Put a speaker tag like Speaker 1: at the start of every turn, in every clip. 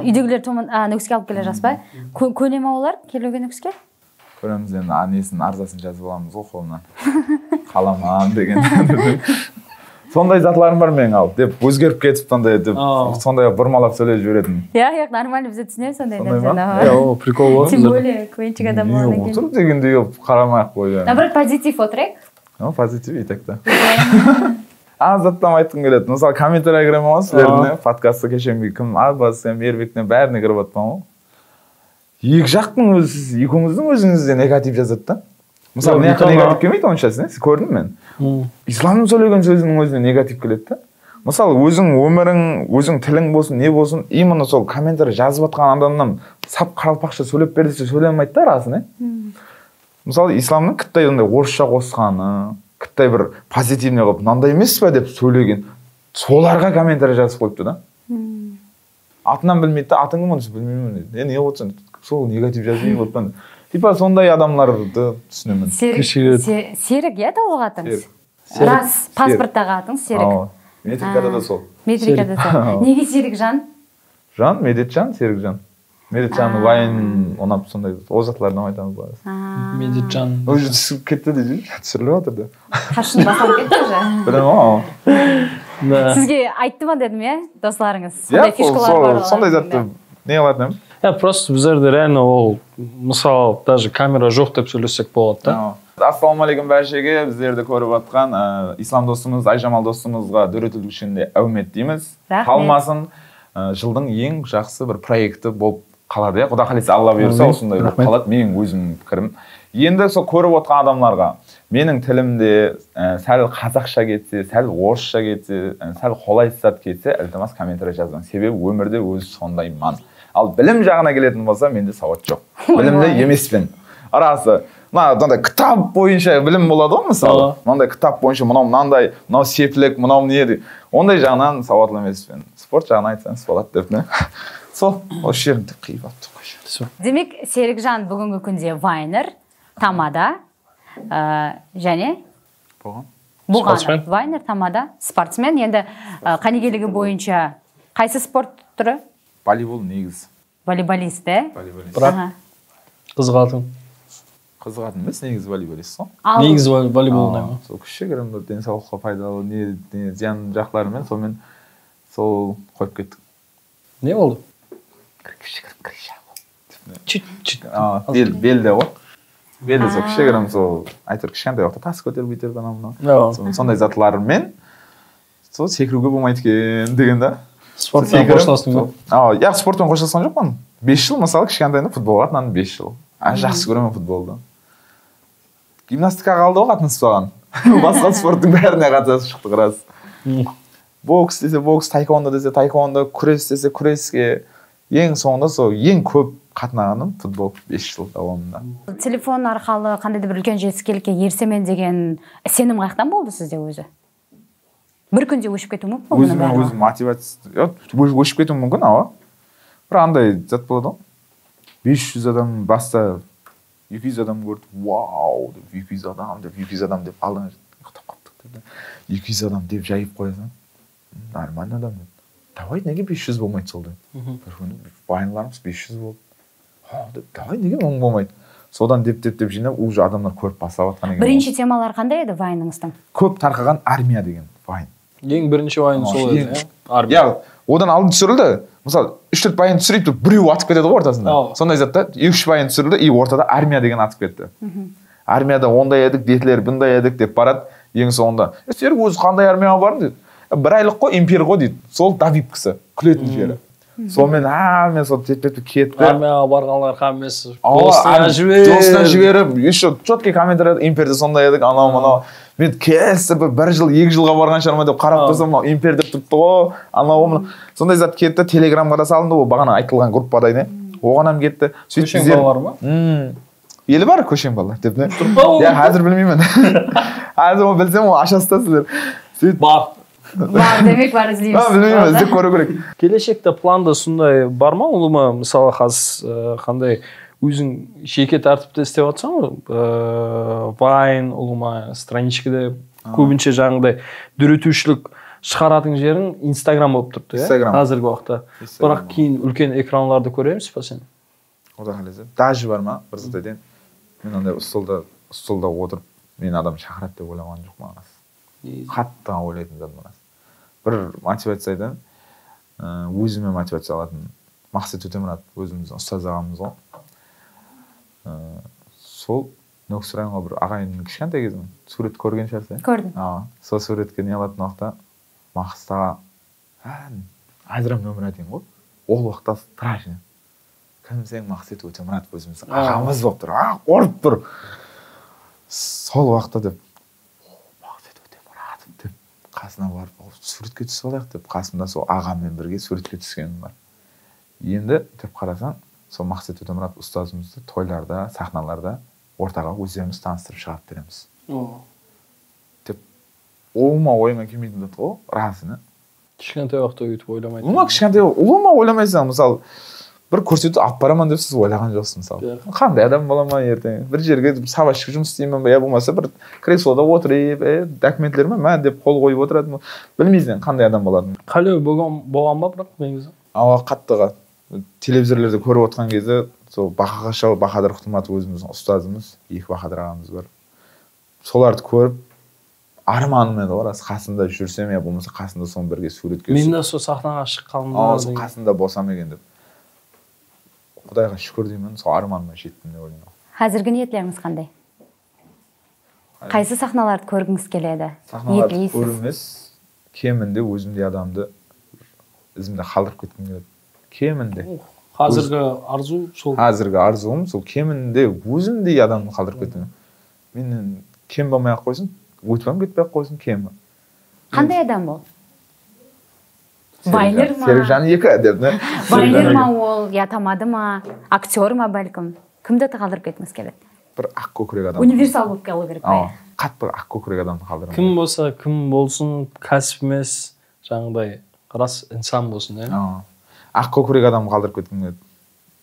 Speaker 1: Үйдегілер нүкіске алып келе жатсыз ба? Көне ма олар келуге нүкіске?
Speaker 2: Көреміз енді несін арзасын жазып аламыз ғой қолынан. Қаламан деген. Сондай затларым бар менің ал деп өзгеріп кетіп сондай бұрмалап сөйлеп жіберетін.
Speaker 1: Иә, нормально бізде түсінемін сондай
Speaker 3: нәрсені. Иә, прикол бар.
Speaker 1: Тем более квенчик адам болғаннан кейін.
Speaker 2: Отыр дегендей қарамай-ақ қойды.
Speaker 1: Наоборот, позитив отырайық.
Speaker 2: Позитив етек та. Заттан айтқым келеді. Мысалы комментарий кіремін ғой сіздердің подкастты кешенбей кім Арбасы, Мербектен бәріне кіріп жатпан ғой. Екі жақтың екеуіңіздің өзіңізде негатив жазады да. Мысалы, мен негатив келмейді оншасы, көрдім мен. Исламның сөйлеген сөзінің өзіне негатив келеді да. Мысалы, өзің өмірің, өзің тілің болсын, не болсын, именно сол комментарий жазып жатқан адамнан сап қаралпақша сөйлеп бер десе сөйлемейді да расын, Мысалы, исламның кіттай ондай орысша қосқаны, кіттай бір позитивный қылып, мынандай емес пе деп сөйлеген, соларға комментарий жазып қойыпты да. Атынан білмейді да, атың кім оны білмеймін дейді. Не отырсың, сол негатив жазбай қойыппын. Типа сондай адамларды түсінемін.
Speaker 1: Серік, иә толық атыңыз? Рас, паспорттағы атыңыз Серік.
Speaker 2: Метрикада да сол.
Speaker 1: Метрикада сол. Неге Серік жан?
Speaker 2: Жан, Медетжан, Серікжан. Медетжан вайын онап сондай озатлардан айтамыз бар.
Speaker 3: Медетжан.
Speaker 2: Уже түсіп кетті де түсіріліп отырды.
Speaker 1: Қашын басалып кетті уже.
Speaker 2: Білем ау.
Speaker 1: Сізге айтты ма дедім, иә, достарыңыз?
Speaker 2: Сондай затты не қылатын?
Speaker 3: Просто біздерде реально ол, мысалы, даже камера жоқ деп сөйлесек болады да.
Speaker 2: Ассалаумағалейкум бәршеге, біздерді көріп атқан ислам достымыз, Айжамал достымызға дөрекілік үшінде әумет дейміз. Қалмасын, жылдың ең жақсы бір проекті болып қалады. Құда қаласа Алла бұйырса осындай болып қалады, менің өзім пікірім. Енді сол көріп отқан адамларға менің тілімде сәл қазақша кетсе, сәл орысша кетсе, сәл қолайсыз кетсе, ілтимас комментарий жазған. Себебі өмірде өзі сондаймын. Ал білім жағына келетін болса, менде сауат жоқ. Білімді емеспін. Арасы, мынандай кітап бойынша білім болады ғой, мысалы. Мынандай кітап бойынша мынандай, мынау сеплік, мынау не. Ондай жағынан сауатлы емеспін. Спорт жағына айтсаңыз болады деп не. Сол, осы жерінде қиып атты қойшы.
Speaker 1: Демек, Серікжан бүгінгі күнде вайнер, тамада, және болған вайнер, тамада, спортсмен. Енді қанегелігі бойынша қайсы спорт түрі?
Speaker 2: Волейбол негіз.
Speaker 1: Волейболист, е?
Speaker 3: Бірақ қызығатын.
Speaker 2: Қызығатын емес, негіз волейболист сол.
Speaker 3: Негіз волейбол не ма?
Speaker 2: Сол кішігірім бір денсаулыққа пайдалы не зиян жақтарымен сонымен сол қойып кеттік.
Speaker 3: Не болды?
Speaker 2: Кішігірім крыша болды.
Speaker 3: Чүт.
Speaker 2: Белде ғой. Белде сол кішігірім сол айтыр кішкентай уақытта тас көтеріп бүйтіп анау. Сондай затлармен сол секіруге болмайды екен деген да.
Speaker 3: Спортпен қоштастың ба?
Speaker 2: Иә, спортпен қоштасқан жоқпын. 5 жыл, мысалы, кішкентайында футболға қатынадым 5 жыл. Жақсы көремін футболды. Гимнастика қалды ғой қатынасып қалған. Басқа спорттың бәріне қатысып шықтық рас. Бокс десе бокс, таеквондо десе таеквондо, күрес десе күреске. Ең соңында сол ең көп қатынағаным футбол 5 жыл давамында.
Speaker 1: Телефон арқылы қандай да бір үлкен жетістікке ерсемен деген сенім қаяқтан болды сізде өзі? Бір күнде өшіп кетуі мүмкін?
Speaker 2: Өзім мотивация, өшіп кетуі мүмкін, ау. Бір андай зат болады ғой. 500 адам баста 200 адам көрді. Вау, 200 адам деп алдыңа ұқтап қаптық. 200 адам деп жайып қоясың. Нормально адам. Давай неге 500 болмайды сол деп. Бір күні вайнларымыз 500 болды. Давай неге 1000 болмайды. Содан деп жинап, уже адамдар көріп бастап жатқан екен.
Speaker 1: Бірінші темалар қандай еді вайныңыздың?
Speaker 2: Көп тарқаған армия деген вайн.
Speaker 3: Ең бірінші вайын сол еді, армия.
Speaker 2: Иә, одан алдын түсірілді. Мысалы, 3-4 вайн түсіріп тұрып, біреу атып кетеді ғой ортасында. Сондай затта 2-3 вайн түсірілді, и ортада армия деген атып кетті. Армияда ондай едік, детілер бұндай едік деп барады. Ең соңында. Серік өзі қандай армияға бардың дейді. Бір айлық қой, импер ғой дейді. Сол Давид кісі, күлетін жері. Сонымен, мен сол тет-тет кетті.
Speaker 3: Армияға барғанлар қамес. Достан
Speaker 2: жіберіп, еще четкий комментарий, имперде сондай едік, анау-манау. Мен кесі бір жыл, 2 жылға барған шығарма деп қарап тұрсам, импер деп тұрыпты ғой, анау-манау. Сондай зат кетті, телеграмға да салынды, ол бағана айтылған группада не. Оғанам кетті.
Speaker 3: Көшен балалар ма?
Speaker 2: Елі бар көшен балалар деп не. Я қазір білмеймін. Қазір оны білсем, ол ашастасыздар.
Speaker 3: Бар.
Speaker 1: Бар, демек бар іздейміз.
Speaker 2: Білмеймін, іздеп көру керек.
Speaker 3: Келешекте планда сондай бар ма? Олыма, мысалы, қандай өзің жеке тәртіпті істеп жатсың ғой? Вайн, олыма, страничкада көбінше жаңағыдай дүретушілік шығаратын жерің Инстаграм болып тұрды,
Speaker 2: Instagram.
Speaker 3: қазіргі уақытта. Бірақ кейін үлкен экранларды көреміз ба сен?
Speaker 2: Ода қалайсың? Даже бар ма? Бір заттайден мен андай столда отырып, мен адам шақырады деп ойламаған жоқпын ағасы. Қатты ойлайтын затым ағасы. Бір мотивациядан өзіме мотивация алатын Мақсат Өтемұрат өзіміздің ұстаз ағамыз ғой. Сол Нөксір районға бір ағайынның кішкентай кезінен сурет көрген шығарсың.
Speaker 1: Көрдім.
Speaker 2: Сол суретке не алатын уақытта Мақсатға Айзрам нөмір дейін ғой. Ол уақытта страшно. Кім сен Мақсат Өтемұрат өзіміздің ағамыз болып тұр. Қорып тұр. Сол уақытта деп Мақсат Өтемұрат деп қасына барып суретке түсіп алайық деп қасымда сол ағаммен бірге суретке түскенім бар. Енді деп қарасаң, сол Мақсат Өтемұрат ұстазымызды тойларда, сахналарда ортаға өздеріміз таныстырып шығарып береміз. Деп ойыма келмейтін зат ғой, расына.
Speaker 3: Кішкентай уақытта өйтіп ойламайсың.
Speaker 2: Кішкентай ойламайсың, мысалы, бір көрсетіп алып барамын деп сіз ойлаған жоқсыз, мысалы. Қандай адам боламын ертең? Бір жерге сабашшы жұмыс істеймін ба, я болмаса бір креслода отырып, документлеріме мә деп қол қойып отыратын. Білмейсің қандай адам болатынын.
Speaker 3: Қалай болған ба бірақ негізі?
Speaker 2: Қаттыға телевизорлерде көріп отқан кезде сол Бақаға шал Бақадыр Құтыматов өзіміздің ұстазымыз, екі Бақадыр ағамыз бар. Соларды көріп арманым еді ғой, қасында жүрсем я болмаса қасында соның бірге суретке
Speaker 3: мен де сол сахнаға шыққанымда
Speaker 2: қасында болсам екен деп. Құдайға шүкір деймін, сол арманыма жеттім деп ойлаймын.
Speaker 1: Қазіргі ниетлеріңіз қандай? Қайсы сахналарды көргіңіз келеді?
Speaker 2: Сахналарды көрмес, кемінде өзімде адамды ізімде қалдырып кеткім келеді. Кемінде.
Speaker 3: Қазіргі арзу сол.
Speaker 2: Қазіргі арзуым сол кемінде өзімдей адамды қалдырып кеткім. Менен кем болмай ақ қойсын, өтпем кетпей ақ қойсын, кем.
Speaker 1: Қандай адам бол? Вайнер ма?
Speaker 2: Серікжан екі деп, не?
Speaker 1: Вайнер ма ол, я тамады ма, актер ма бәлкім? Кімді қалдырып кеткіңіз келеді?
Speaker 2: Бір ақ көкірек адам.
Speaker 1: Универсал болып қалу керек па?
Speaker 2: Қатты ақ көкірек адамды қалдырам.
Speaker 3: Кім болса, кім болсын, кәсіп емес, жаңағыдай рас инсан болсын,
Speaker 2: Ақ көкірек адамды қалдырып кеткім келеді.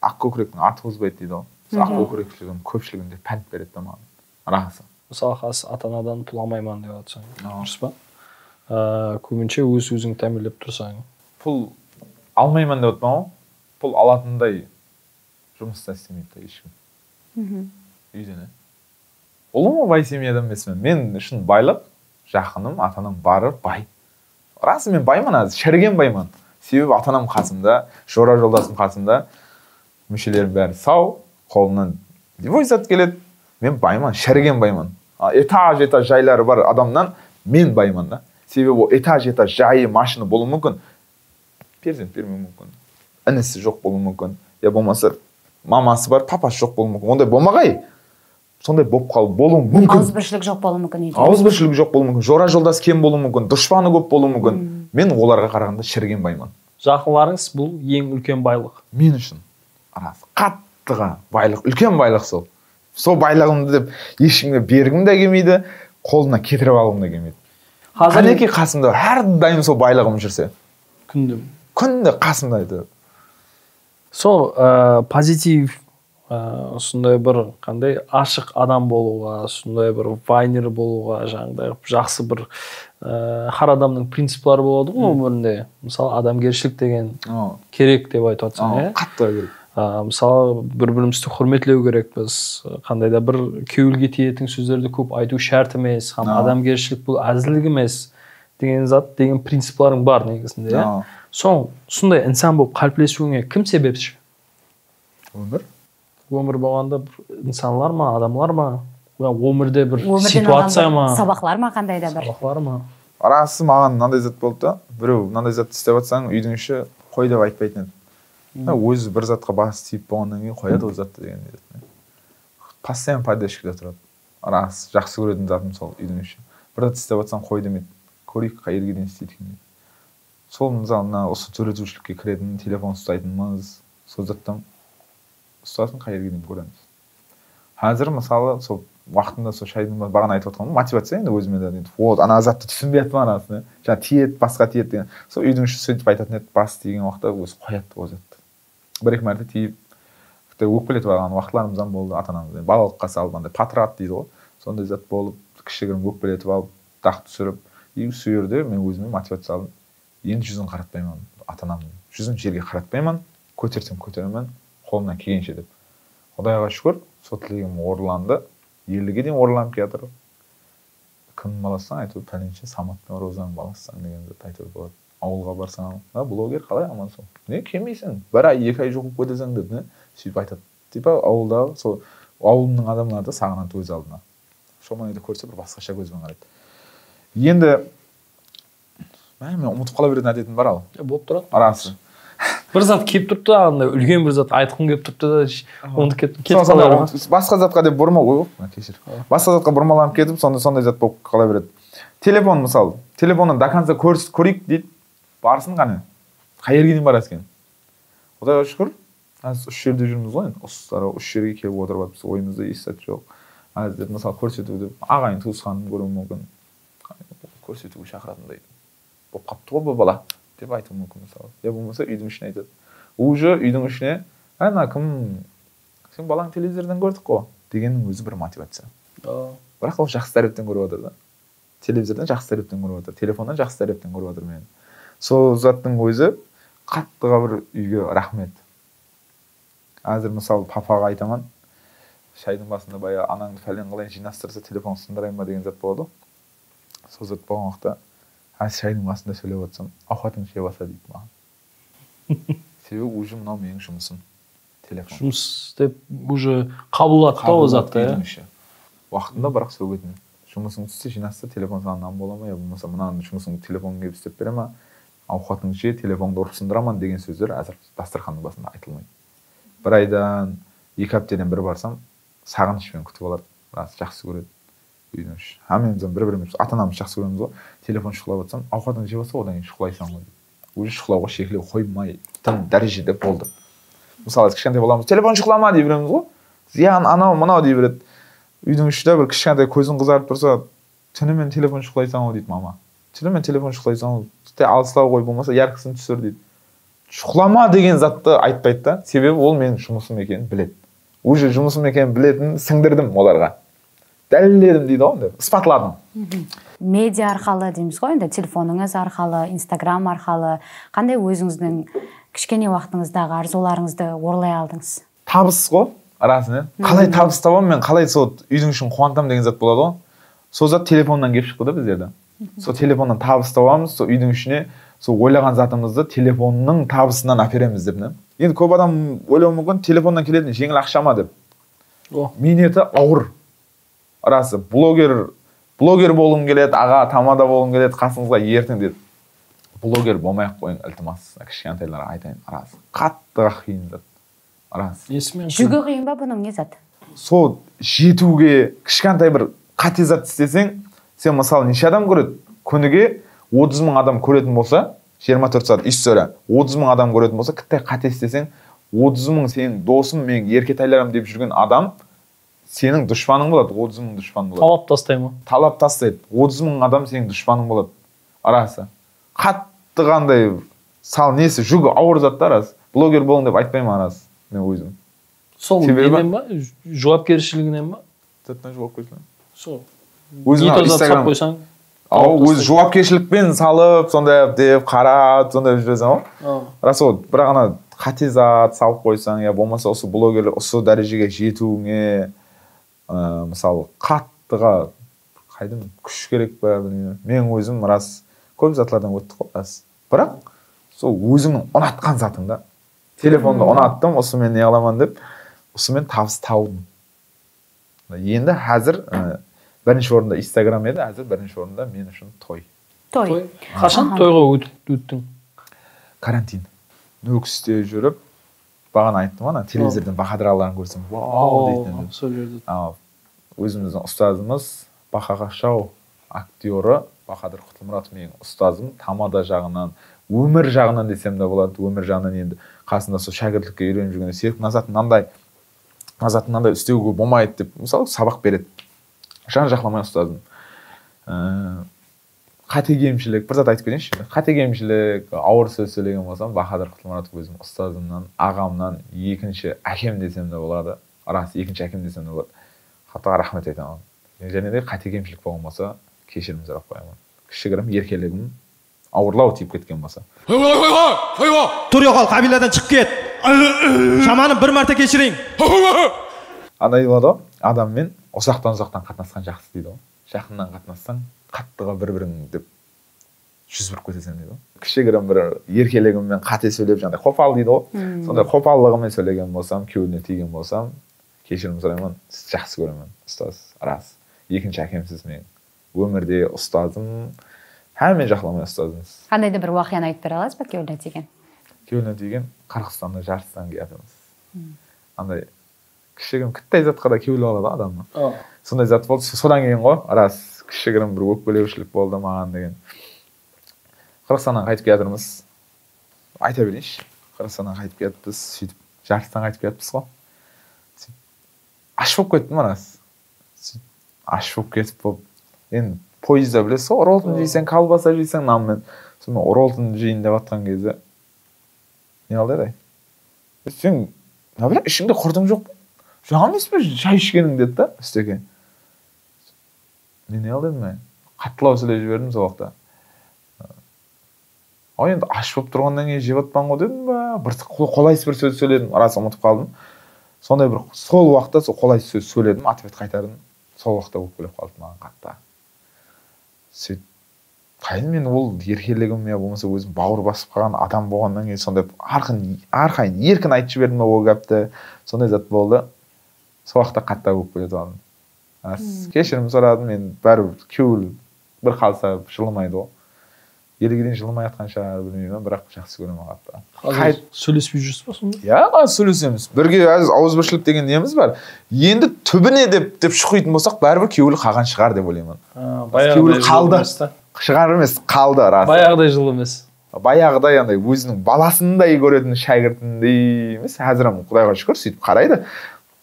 Speaker 2: Ақ көкіректің аты озбайды дейді ғой. Ақ көкіректілігім көпшілігінде пән береді да маған. Расы.
Speaker 3: Мысалы қазір ата-анадан пұл алмайман деп жатсаң, дұрыс па? Көбінше өзің тәмелеп тұрсаң.
Speaker 2: Пұл алмайман деп отпам, пұл алатындай жұмыста істемейді ешкім. Үйден. Ұлым бай семьядан емеспін. Мен үшін байлық, жақыным, ата-анам бары бай. Расы мен баймын аз, шіріген баймын. Себебі ата-анам қасымда, жора жолдасым қасымда, мүшелерім бәрі сау, қолынан девойзат келеді. Мен баймын, шіріген баймын. Этаж жайлары бар адамнан мен баймын да. Себебі ол этаж жайы машина болуы мүмкін. Перзент бермеуі мүмкін. Інісі жоқ болуы мүмкін. Я болмаса мамасы бар, папасы жоқ болуы мүмкін. Ондай болмағай. Сондай болып қалып болуы мүмкін.
Speaker 1: Ауызбіршілік жоқ болуы мүмкін.
Speaker 2: Ауызбіршілік жоқ болуы мүмкін. Жора жолдас кем болуы мүмкін. Дұшпаны көп болуы мүмкін. Мен оларға қарағанда шіріген баймын.
Speaker 3: Жақынларыңыз бұл ең үлкен байлық.
Speaker 2: Мен үшін қаттыға байлық, үлкен байлық сол. Сол байлығымды деп ешкімге бергім де келмейді, қолына кетіріп алғым да келмейді. Қанеке қасымда әрдайым сол байлығым жүрсе. Күнде қасымда еді.
Speaker 3: Сол позитив, сондай бір қандай ашық адам болуға, сондай бір вайнер болуға, жаңағыдай жақсы бір har адамның принциплары болады ғой өмірінде. Мысалы адамгершілік деген керек деп айтып жатсаң,
Speaker 2: қатты керек.
Speaker 3: Мысалы бір-бірімізді құрметтеу керекпіз. Қандай да бір кеуілге тиетін сөздерді көп айту шарт емес, адамгершілік бұл әзілдік емес деген зат, деген принципларың бар негізінде. Сондай инсан болып қалыптасуыңа кім себепші? Өмір болғанда инсанлар ма, адамлар ма? Өмірде бір ситуация ма?
Speaker 1: Сабақлар ма, қандай да бір?
Speaker 3: Сабақлар ма?
Speaker 2: Арасы маған мынандай зат болды да, біреу мынандай зат істеп жатсаң, үйдің іші қой деп айтпайтын еді. Өзі бір затқа бас тиіп болғаннан кейін қояды ол затты деген еді. Постоянно поддержкада тұрады. Арасы жақсы көретін затым сол үйдің іші. Бір зат істеп жатсаң қой демейді. Көрейік қай жерге дейін істейді екен дейді. Сол мысалы осы сөйлетушілікке кіретін, телефон ұстайтынымыз, сол заттан ұстасын қай жерге дейін көреміз. Қазір мысалы сол уақытында сол шайдың бағана айтып отқаным мотивация енді өзіме де дейді. Вот ана затты түсінбей жатырмын анасына. Жаңа тиеді, басқа тиеді деген. Сол үйдің іші сөйтіп айтатын еді, бас тиген уақытта өзі қояды ол затты. Бір-екі мәрте тиіп, өкпелетіп алған уақытларымыздан болды ата-анамыздан. Балалыққа салып андай патрат дейді ғой. Сондай зат болып, кішігірім өкпелетіп алып, дақ түсіріп, и сол жерде мен өзіме мотивация алдым. Енді жүзін қаратпаймын ата анамның. Жүзін жерге қаратпаймын, көтерсем көтеремін, қолымнан келгенше деп. Құдайға шүкір, сол тілегім орындалды. Елге дейін орындалып келатыр. Кімнің баласысың айтып, пәленше Саматтың Розаның баласысың дегенді айтып болады. Ауылға барсаң, блогер қалай амансың? Не келмейсің? Бір ай, 2 ай жоқ болып кетесің деп, не? Сөйтіп айтады. Типа ауылда, сол ауылның адамлары да сағынады өз алдына. Шомайды көрсе бір басқаша көзбен қарайды. Енді мен ұмытып қала беретін әдетім бар ал.
Speaker 3: Болып тұрады.
Speaker 2: Арасы.
Speaker 3: Бір зат келіп тұрыпты, андай үлкен бір зат айтқым келіп тұрыпты да, оны кетіп
Speaker 2: басқа затқа деп бұрма ғой, кешір. Басқа затқа бұрмаланып кетіп, сондай зат болып қала береді. Телефон мысалы, телефонын до конца көрейік дейді. Барсын қане. Қай жерге дейін барасыз екен? Құдайға шүкір, аз 3 жерде жүрміз ғой, ұстары 3 жерге келіп отырып жатырмыз, ойымызда естіп жоқ. Аз деп мысалы көрсетуді, ағайын туысқанын көруі мүмкін. Көрсетуге шақыратындай. Болып қапты ғой бұл бала деп айтуы мүмкін мысалы. Я болмаса үйдің ішіне айтады. Уже үйдің ішіне, ана кім, сен балаң телевизордан көрдік қой дегеннің өзі бір мотивация. Бірақ ол жақсы тәріптен көріп отыр да. Телевизордан жақсы тәріптен көріп отыр, телефондан жақсы тәріптен көріп отыр мені. Сол заттың өзі қаттыға бір үйге рахмет. Әзір мысалы папаға айтаман, шайдың басында бая анаңды фәлен қылайын жинастырса телефон сындырайын ба деген зат болады. Сол зат болған уақытта шайдың басында сөйлеп отырсам, ауқатың жей баса дейді маған. Себебі уже мынау менің жұмысым. Телефон.
Speaker 3: Жұмыс деп уже қабылдады да ол затты,
Speaker 2: иә. Уақытында бірақ сөгетін. Жұмысың түссе жинастыр, телефон саған бола ма, я болмаса мынаның жұмысың телефонға келіп істеп бере ма, ауқатың же телефонды ұрып сындыраман деген сөздер әзір дастарханның басында айтылмайды. Бір айдан 2 аптадан бір барсам, сағынышпен күтіп алады. Рас жақсы көреді. Үйдің іші. Мен бір-біріміз ата-анамыз жақсы көреміз ғой. Телефон шұқылап отырсам, ауқатың жеп алса, одан кейін шұқылайсың ғой. Уже шұқылауға шекілеу қоймай, тым дәрежеде болды. Мысалы, кішкентай боламыз, телефон шұқылама дей береміз ғой. Зиян анау мынау дей береді. Үйдің ішінде бір кішкентай көзің қызарып тұрса, түнімен телефон шұқылайсың ғой дейді мама. Түнімен телефон шұқылайсың ғой, алыстау қой болмаса яркысын түсір дейді. Шұқылама деген затты айтпайды да, себебі ол менің жұмысым екенін біледі. Уже жұмысым екенін білетін сіңдірдім оларға. Дәлелдедім дейді ғой, деп ысбатладым.
Speaker 1: Медиа арқалы дейміз ғой, енді телефоныңыз арқалы, Инстаграм арқалы, қандай өзіңіздің кішкене уақытыңыздағы арзуларыңызды оралай алдыңыз?
Speaker 2: Табыс қой, арасында. Қалай табыс табамын мен, қалай сол үйдің ішін қуантам деген зат болады ғой. Сол зат телефоннан келіп шықты да біздерде. Сол телефоннан табыс табамыз, сол үйдің ішіне сол ойлаған затымызды телефонның табысынан әпереміз деп. Енді көп адам ойлауы мүмкін, телефоннан келетін жеңіл ақша ма деп. Минеті ауыр. Арасы блогер болғым келеді, аға тамада болғым келеді, қасыңызға ертің деді. Блогер болмай-ақ қойың, ілтимас. Кішкентайларға айтайын, арасы. Қаттыға қиын зат. Арасы.
Speaker 1: Жүгі қиын ба бұның не зат?
Speaker 2: Сол жетуге кішкентай бір қате зат істесең, сен мысалы неше адам көреді? Күніге 30 000 адам көретін болса, 24 сағат история, 30 000 адам көретін болса, кіттай қате істесең, 30 000 сенің досым, мен еркетайларым деп жүрген адам сенің дұшпаның болады, 30 000 дұшпан болады.
Speaker 3: Талап тастай ма?
Speaker 2: Талап тастайды. 30 000 адам сенің дұшпаның болады. Арасы. Қатты қандай сал несі жүгі ауыр заттар арасы. Блогер болың деп айтпаймын арасы. Мен өзім.
Speaker 3: Сол неден ба? Жауапкершілігінен ба?
Speaker 2: Заттан жауапкершілігінен.
Speaker 3: Сол.
Speaker 2: Өзің Инстаграм қойсаң. Өз жауапкершілікпен салып, сондай деп қарап, сондай жүресің ғой. Рас ол, бірақ ана қате зат салып қойсаң, я болмаса осы блогерлер осы дәрежеге жетуіңе, мысалы қаттыға қайдым күш керек па, білмеймін. Мен өзім рас көп затлардан өттік қой, рас. Бірақ сол өзіңнің ұнатқан затыңда, телефонды ұнаттым, осы мен не аламан деп, осы мен табыс таудым. Енді әзір бірінші орында Инстаграм еді, әзір бірінші орында мен үшін той.
Speaker 1: Той.
Speaker 3: Қашан тойға өттің?
Speaker 2: Карантин. Нүкісте жүріп, бағана айттым ана, телевизордан Бахадыраларын көрсем, вау дейтін.
Speaker 3: Сол жерде.
Speaker 2: Өзіміздің ұстазымыз, Бақаға шау актері, Бахадыр Құтылмұратов менің ұстазым, тамада жағынан, өмір жағынан десем де болады, өмір жағынан енді қасында сол шәкірттікке үйреніп жүргенде Серік назатын мынандай істеуге болмайды деп, мысалы сабақ береді. Жан-жақламай ұстазым. Қатегемшілік, бір зат айтып кетейінші. Қатегемшілік, ауыр сөз сөйлеген болсам, Бахадыр Құтылмұратов өзім ұстазымнан, ағамнан, екінші әкем десем де болады. Рас, екінші әкем десем де болады. Хатыға рахмет айтамын. Және де қатегемшілік болған болса, кешірім сұрап қоямын. кішігірім еркелігім ауырлау тиіп кеткен болса.
Speaker 4: Тұр yo'qol, қабиладан шығып кет. Шаманы бір мәрте кешірейін.
Speaker 2: Андай болады ғой, адаммен ұзақтан қатынасқан жақсы дейді ғой. Жақыннан қатынассаң, қаттыға бір-бірің деп жүз бұрып кетесің дейді ғой. Кішігірім бір еркелігіммен қате сөйлеп жаңағыдай қопал дейді ғой. Сондай қопаллығымен сөйлеген болсам, күйеуіне тиген болсам, кешірім сұраймын, сізді жақсы көремін, ұстаз, рас. Екінші әкемсіз мен. Өмірде ұстазым, мен жақыламай ұстазымыз.
Speaker 1: Қандай да бір уақияны айтып бере аласыз ба күйеуіне тиген?
Speaker 2: Күйеуіне тиген Қырғызстанда жарыстан келатырмыз. Андай кішігірім кіттай затқа да күйеулі алады адамның. Сондай зат болды. Содан кейін ғой, рас кішігірім бір өкпелеушілік болды маған деген. Қырғызстаннан қайтып келатырмыз. Айта берейінші. Қырғызстаннан қайтып келатпыз, сөйтіп жарыстан қайтып келатпыз ғой. Аш болып кеттім рас. Аш болып кетіп болып. Енді пойызда білесіз ғой, роллтон жейсең, колбаса жейсең нанмен. Сонымен роллтон жейін деп жатқан кезде не алды? Сен, бірақ ішіңде құрдың жоқ па? Жаңа емес пе шай ішкенің деді да, үстеке. Мен не алды ма? Қаттылау сөйлеп жібердім сол уақытта. Енді аш болып тұрғаннан кейін жеп жатпан ғой дедім ба? Бір қолайсыз бір сөз сөйледім, рас ұмытып қалдым. Сондай бір сол уақытта сол қолайсыз сөз сөйледім, ответ қайтардым. Сол уақытта өкпелеп қалды маған қатты. Сөйтіп қайын мен ол еркелігім я болмаса өзім бауыр басып қалған адам болғаннан кейін сондай арқайын еркін айтып жібердім ол гәпті. Сондай зат болды. Сол уақытта қатты өкпелеп қалдым. Кешірім сұрадым, мен бәрібір күйеуі бір қалса жылымайды ғой. Елге дейін жылымай жатқан шығар білмеймін, бірақ жақсы көремін қатты.
Speaker 3: Қазір сөйлеспей жүрсіз ба сонда?
Speaker 2: Иә, сөйлесеміз. Бірге ауызбіршілік деген неміз бар. Енді түбіне деп шұқитын болсақ, бәрібір күйеулі қалған шығар деп ойлаймын. Күйеулі қалды. Шығар емес, қалды рас.
Speaker 3: Баяғыдай жылы емес.
Speaker 2: Баяғыдай андай өзінің баласындай көретін шәкіртіндей емес. Әзір Құдайға шүкір сөйтіп қарайды.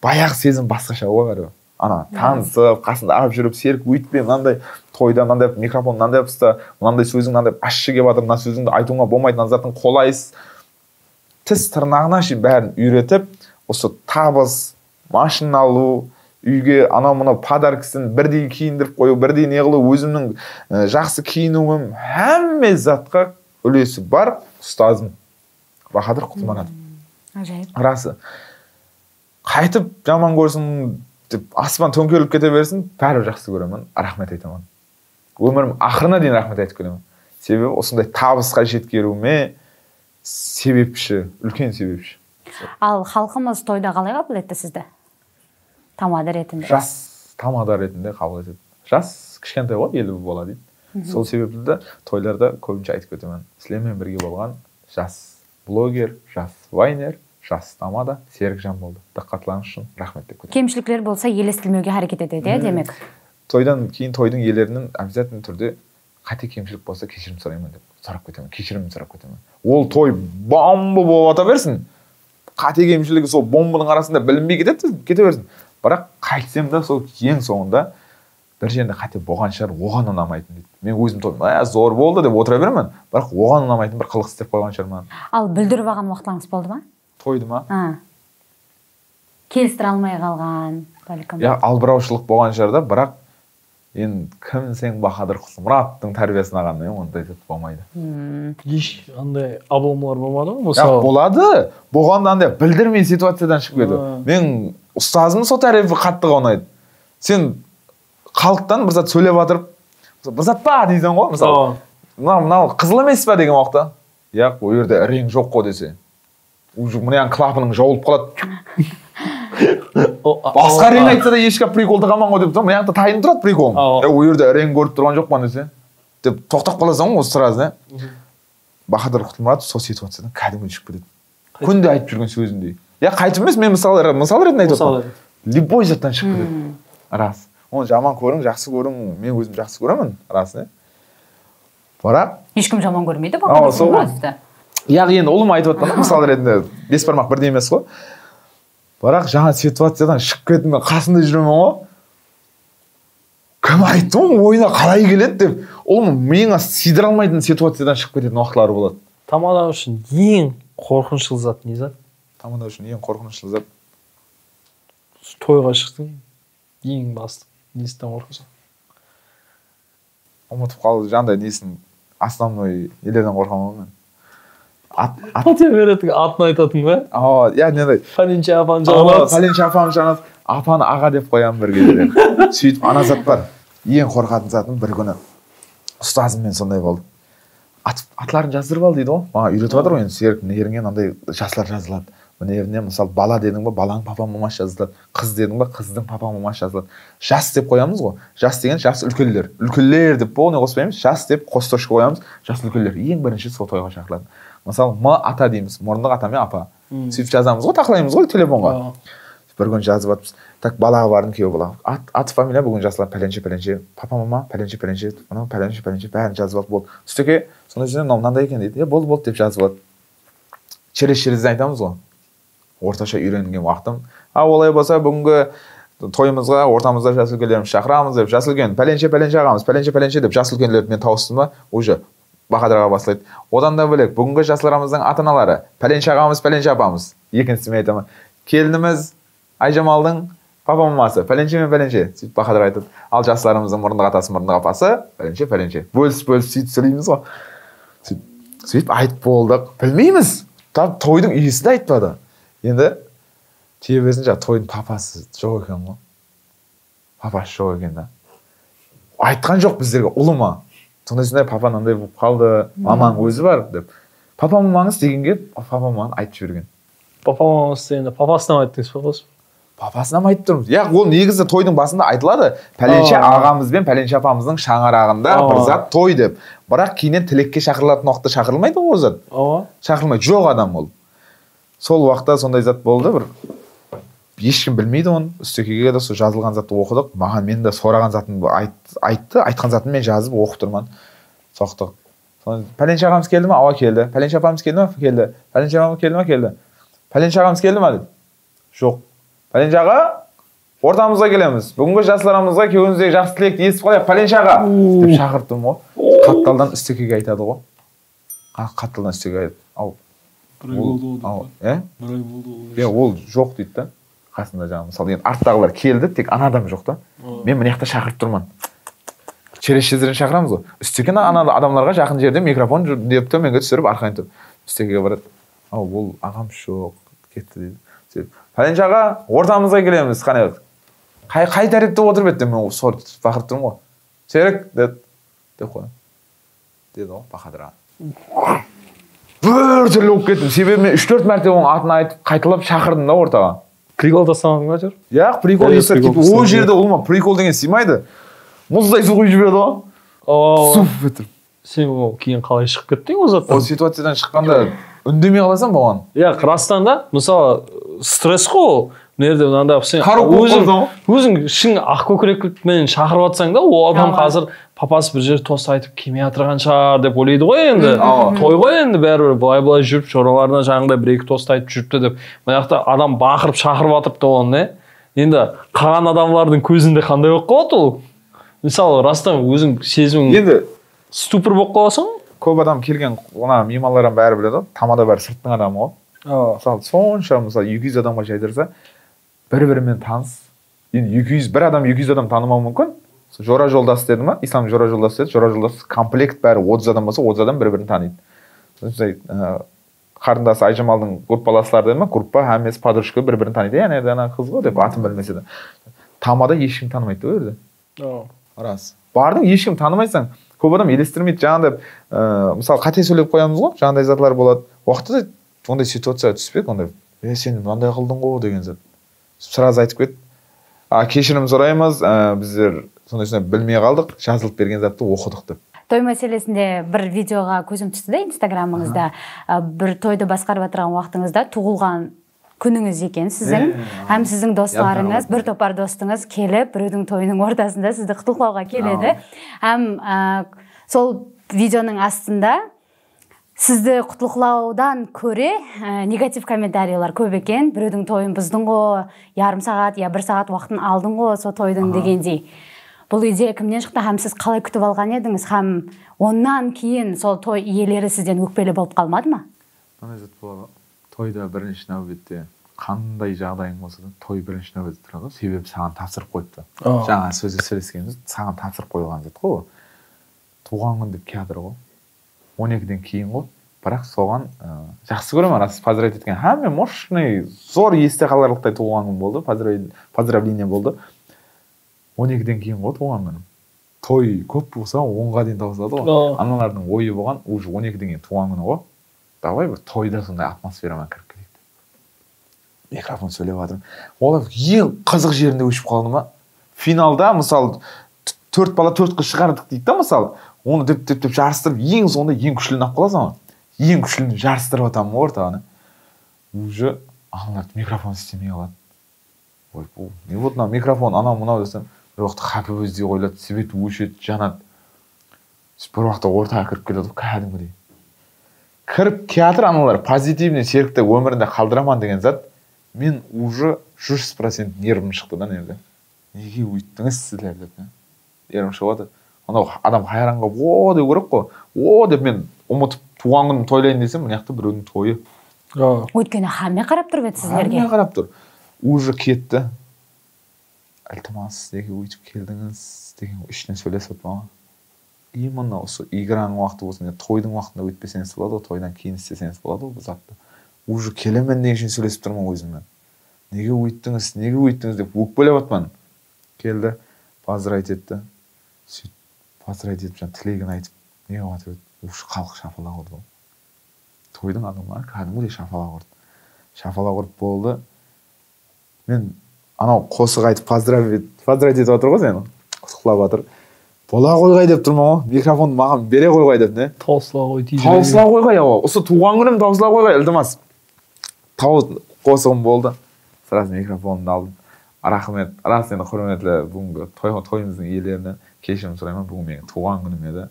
Speaker 2: Баяғы сезім басқаша ғой бәрібір. Ана танысып, қасында алып жүріп, серік өйтпе, мынандай тойда мынандай микрофон мынандай ұста, мынандай сөзің мынандай ащы келіп жатыр, мына сөзіңді айтуыңа болмайды, мына заттың қолайсыз. Тіс тырнағына шейін бәрін үйретіп, осы табыс, машина алу, үйге анау-мынау подаркасын бірдей киіндіріп қою, бірдей не қылу, өзімнің жақсы киінуім, әмме затқа үлесі бар ұстазым. Бахадыр Құтманат.
Speaker 1: Ажайып.
Speaker 2: Расы. Қайтып жаман көрсін деп аспан төңкеріліп кете берсін, бәрібір жақсы көремін, рахмет айтамын. Өмірім ақырына дейін рахмет айтып келемін. Себебі осындай табысқа жеткеруіме себепші, үлкен себепші.
Speaker 1: Ал халқымыз тойда қалай қабыл етті сізді? Тамада ретінде.
Speaker 2: Жас тамада ретінде қабыл етеді. Жас кішкентай ғой, елі бола дейді. Сол себепті де тойларда көбінше айтып кетемін. Сіздермен бірге болған жас блогер, жас вайнер, жас тамада Серікжан болды. Диққатларыңыз үшін рахмет деп кетемін.
Speaker 1: Кемшіліктер болса елестірмеуге харекет етеді, демек.
Speaker 2: Тойдан кейін тойдың иелерінің обязательно түрде қате кемшілік болса кешірім сұраймын деп сұрап кетемін. Кешірім сұрап кетемін. Ол той бомба болып ата берсін. Қате кемшілігі сол бомбаның арасында білінбей кете берсін. Бірақ қайтсем да сол ең соңында бір жерінде қате болған шығар, оған ұнамайтын дейді. Мен өзім тойым, зор болды деп отыра беремін. Бірақ оған ұнамайтын бір қылық істеп қойған шығар маған.
Speaker 1: Ал бүлдіріп алған уақытларыңыз болды ма?
Speaker 2: Тойды ма?
Speaker 1: Келістіре алмай қалған, бәлкім.
Speaker 2: Я албыраушылық болған жерде, бірақ енді кім сен Бахадыр Құсмұраттың тәрбиесін алғаннан ондай зат болмайды.
Speaker 3: Еш андай абылмалар болмады ма? Мысалы
Speaker 2: болады. Болғанда андай білдірмей ситуациядан шығып кетті. Мен ұстазымның сол тәрбиесі қатты ұнайды. Сен халықтан бір зат сөйлеп жатырып, бір зат па дейсің ғой, мысалы. Мынау қызыл емес па деген уақытта. Яқ, ол жерде рең жоқ қой десе. Уже мынаның клапаның жауылып қалады. Басқа рең айтса да ешкі прикол тағаман ғой деп тұрмын. Мынақты тайын тұрады прикол. Ол жерде рең көріп тұрған жоқ па десе. Деп тоқтап қаласың ғой осы сразу. Бахадыр Құтмұрат сол ситуациядан кәдімгі шығып кетеді. Күнде айтып жүрген сөзіндей. Я қайтып емес, мен мысал ретінде айтып отырмын. Любой заттан шығып кетеді. Рас. Оны жаман көрің, жақсы көрің, мен өзім жақсы көремін, рас, бірақ
Speaker 1: ешкім жаман көрмейді Бахадыр Құтмұратты.
Speaker 2: Яғни енді ұлым айтып отырмын, мысал ретінде бес бармақ бірдей емес қой. Бірақ жаңа ситуациядан шығып кетіп мен қасында жүремін ғой. Кім айтты ғой, ойына қалай келеді деп, ұлым миыңа сыйдыра алмайтын ситуациядан шығып кететін уақытлары болады.
Speaker 3: Тамада үшін ең қорқынышты зат не зат?
Speaker 2: Тамада үшін ең қорқынышты зат.
Speaker 3: Тойға шықтың, ең басты. Несімен қорқасың?
Speaker 2: ұмытып қалды жаңағыдай несін основной елерден қорқамын мен.
Speaker 3: Патия беретін атын айтатын ба?
Speaker 2: Иә, недай.
Speaker 3: Пәленше апаны жағалап.
Speaker 2: Пәленше апаны жағалап, апаны аға деп қоямын бір кезде. Сөйтіп ана зат бар. Ең қорқатын затым бір күні ұстазыммен сондай болды. Атларын жаздырып ал дейді ғой. Маған үйретіп жатыр ғой енді серік неріңе андай жаслар жазылады. Мына мысалы бала дедің ба, баланың папа мамасы жазылады. Қыз дедің ба, қыздың папа мамасы жазылады. Жас деп қоямыз ғой. Жас деген жас үлкендер. Үлкендер деп не қоспаймыз? Жас деп қос точка қоямыз. Жас үлкендер. Ең бірінші сол тойға шақырылады. Мысалы, ата дейміз. Мұрындық ата мен апа. Сөйтіп жазамыз ғой, тақылаймыз ғой телефонға. Бір күн жазып жатырмыз. Так балаға бардым, күйеу бала. Аты фамилия бүгін жазылады пәленше. Папа мама пәленше. Мына пәленше бәрін жазып алып болды. Үстеке сондай жерде мынандай екен дейді. Болды деп жазып алады. Через айтамыз ғой. Орташа үйренген уақытым. Олай болса бүгінгі тойымызға ортамызда жас үлкендерімізді шақырамыз деп, жас үлкен пәленше ағамыз, пәленше деп жас үлкендерді мен тауыстым ба, уже Бақадырға басылайды. Одан да бөлек бүгінгі жастарымыздың ата-аналары пәленше ағамыз, пәленше апамыз. Екіншісімен айтамын. Келініміз Айжамалдың папа мамасы пәленше мен пәленше. Сөйтіп Бақадыр айтады. Ал жастарымыздың мұрындық атасы, мұрындық апасы пәленше. Бөлісіп сөйтіп сөйлейміз ғой. Сөйтіп айтып болдық. Білмейміз. Тойдың иесі де айтпады. Енді тебесін тойдың папасы жоқ екен ғой. Папасы жоқ екен да. Айтқан жоқ біздерге, ұлы ма? Сондай папа мынандай болып қалды, мамаң өзі бар деп. Папа мамаңыз дегенге папа маманы айтып жіберген.
Speaker 3: Папа мамаңыз дегенде папасына айттыңыз ба?
Speaker 2: Папасына айтып тұрмыз. Ол негізі тойдың басында айтылады. Пәленше ағамыз бен пәленше апамыздың шаңырағында бір зат той деп. Бірақ кейіннен тілекке шақырылатын уақытта шақырылмайды ол зат. Шақырылмайды, жоқ адам ол. Сол уақытта сондай зат болды бір. Ешкім білмейді оны. Үстекеге де сол жазылған затты оқыдық. Маған мен де сұраған затын айтты. Айтқан затын мен жазып оқып тұрмын. Соқтық. Пәленше ағамыз келді ма? Келді. Пәленше апамыз келді ма? Келді. Пәленше ағамыз келді ма? Келді. Пәленше ағамыз келді ма? Жоқ. Пәленше аға, ортамызға келеміз. Бүгінгі жастарымызға кеуіңіздегі жақсы тілекті естіп қалайық. Пәленше аға деп шақырттым ғой. Қатталдан үстекеге айтады ғой. Қатталдан үстекеге айтады. Ол жоқ дейді да. Қасында жаңағы мысалы деген арттағылар келді, тек ана адам жоқ та. Мен мына жақта шақырып тұрмын. Через шезерін шақырамыз ғой. Үстекені ана адамдарға жақын жерде микрофон деп төменге түсіріп арқайын тұрып. Үстекеге барады. Ол ағам жоқ, кетті дейді. Пәленше аға, ортамызға келеміз. Қай тәртіпте отырып еді мен бақырып тұрмын ғой. Серік деп қойдым. Деді ғой Бақадыр аға. Бір түрлі болып кеттім. Себебі мен 3-4 мәрте оның атын айтып қайталап шақырдым да ортаға.
Speaker 3: Прикол тастамадың ба жүр?
Speaker 2: Прикол жасап кетіп, ол жерде ұлма прикол деген сыймайды. Мұздай су құйып жіберді ғой. Суф етіп.
Speaker 3: Сен кейін қалай шығып кеттің ол заттан?
Speaker 2: Ол ситуациядан шыққанда үндемей қаласың болған.
Speaker 3: Қырғызстан да, мысалы, стресс қой. Мынерде мынандай сен өзің ішің ақ көкірекпен шақырып жатсаң да, ол адам қазір папасы бір жер тост айтып келмей жатырған шығар деп ойлайды ғой енді. Той ғой енді бәрібір былай жүріп шораларына жаңағыдай бір-екі тост айтып жүріпті деп. Мына жақта адам бақырып шақырып жатырыпты оны. Енді қалған адамдардың көзінде қандай болып қалады ол? Мысалы, растан өзің сезімің енді ступор болып қаласың.
Speaker 2: Көп адам келген меймандардан бәрі біледі ғой. Тамада бәрі сырттың адамы ғой. Мысалы, сонша мысалы 200 адамға жайдырса бір-бірімен таныс. Енді бір адам 200 адам танымауы мүмкін. Жора жолдас деді ма? Ислам жора жолдас деді. Жора жолдас комплект бәрі 30 адам болса, 30 адам бір-бірін таниды. Қарындасы Айжамалдың группаластары деді ма? Группа, әмес, подружка бір-бірін таниды. Яғни ана қыз ғой деп атын білмесе де. Тамада ешкім танымайды ғой жерде. Рас. Бардың ешкім танымайсың. Көп адам елестірмейді. Жаңағыдай мысалы қате сөйлеп қоямыз ғой. Жаңағыдай затлар болады. Уақытта ондай ситуация түспек, ондай сен мынандай қылдың ғой деген зат. Сразу айтып кет. Кешірім сұраймыз, біздер сондай білмей қалдық, жазылып берген затты оқыдық деп.
Speaker 1: Той мәселесінде бір видеоға көзім түсті де инстаграмыңызда. Бір тойды басқарып отырған уақытыңызда туылған күніңіз екен сіздің. Һәм сіздің достарыңыз, бір топар достыңыз келіп, біреудің тойының ортасында сізді құттықтауға келеді. Һәм сол видеоның астында сізді құттықтаудан көре негатив комментарийлар көп екен. Біреудің тойын бұздың ғой, ярым сағат, я 1 сағат уақытын алдың ғой сол тойдың дегендей. Бұл идея кімнен шықты, һәм сіз қалай күтіп алған едіңіз, һәм оннан кейін сол той иелері сізден өкпелі болып қалмады ма?
Speaker 2: Тойда бірінші нәубетте қандай жағдайың болса да, той бірінші нәубетте тұрады. Себебі саған тапсырып қойыпты. Жаңа сөзде сөйлескеніміз саған тапсырып қойылған зат қой. туған күн деп келатыр ғой. 12-ден кейін ғой. Бірақ соған жақсы көремін, рас поздравить еткен. Мен мощный, зор есте қаларлықтай туған күн болды, поздравление болды. 12-ден кейін ғой туған күнім. Той көп болса 10-ға дейін тауысады ғой. Аналардың ойы болған, уже 12-ден кейін туған күні ғой. Давай бір тойда сондай атмосферамен кіріп кетейік. Микрофон сөйлеп жатырмын. Олар ең қызық жерінде өшіп қалды ма? Финалда, мысалы, 4 бала 4 қыз шығардық дейді да, мысалы, оны деп жарыстырып, ең соңында ең күшліні алып қаласың ғой. Ең күшліні жарыстырып атамын ортағаны. Уже аналар микрофон істемей қалады. Ой, бұл не болды мынау микрофон, анау десем, бір уақытта қапы өздей қойылады, свет өшеді, жанады. Бір уақытта ортаға кіріп келеді, кәдімгідей. Кіріп театр аналар позитивный серікті өмірінде қалдыраман деген зат, мен уже 100% нервім шықты да нерді. Неге өйттіңіз сіздер деп. Нервім шығады. Анау адам хайранға о деп көріп қой. О деп мен ұмытып туған күнім тойлайын десем, мына жақта біреудің тойы.
Speaker 1: Өйткені хамме қарап тұр бет сіздерге.
Speaker 2: Хамме қарап тұр. Уже кетті. Ілтимас, неге өйтіп келдіңіз деген ішінен сөйлесіп отыр маған. Именно осы играның уақыты болсын, тойдың уақытында өтпесеңіз болады, тойдан кейін істесеңіз болады бұл затты. Уже келемен деген үшін сөйлесіп тұрмын өзіммен. Неге өйттіңіз деп өкпелеп атман. Келді, поздравить етті. Сөйт, поздравить етіп, тілегін айтып, не қылып еді. Уже халық шапалақ ұрды. Тойдың адамдары кәдімгідей шапалақ ұрды. Шапалақ ұрып болды. Мен анау қосық айтып поздравить етіп отыр ғой сені. Құттықтап жатыр. Бола қойғай деп тұрмын ғой. Микрофонды маған бере қойғай деп, не?
Speaker 3: Таусыла қой дейді.
Speaker 2: Таусыла қойғай, осы туған күнім таусыла қойғай, ілтимас. Қосығым болды. Сразу микрофонымды алдым. Рахмет, рас енді құрметті бүгінгі тойымыздың иелерінен кешірім сұраймын. Бүгін менің туған күнім еді.